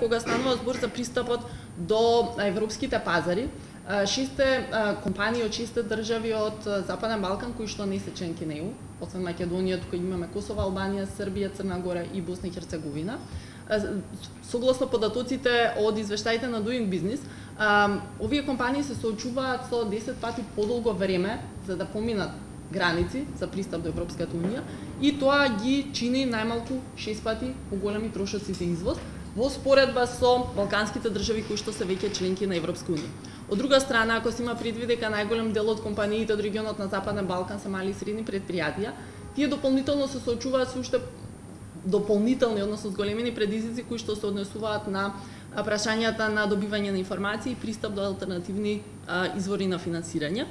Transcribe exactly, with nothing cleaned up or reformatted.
Кога станува збор за пристапот до европските пазари, шесте компании од шесте држави од Западен Балкан кои што не се членки на Е У, освен Македонија, тука имаме Косово, Албанија, Србија, Црна Гора и Босна и Херцеговина. Согласно податоците од извештаите на Doing Business, овие компании се соочуваат со десет пати подолго време за да поминат граници за пристап до Европската унија и тоа ги чини најмалку шест пати поголеми трошоци за извоз во споредба со балканските држави кои што се веќе членки на Европска унија. Од друга страна, ако се има предвид дека најголем дел од компаниите од регионот на Западен Балкан се мали и средни предпријатија, тие дополнително се соочуваат со уште дополнителни, односно зголемени предизвици кои што се однесуваат на прашањата на добивање на информации и пристап до алтернативни извори на финансирање.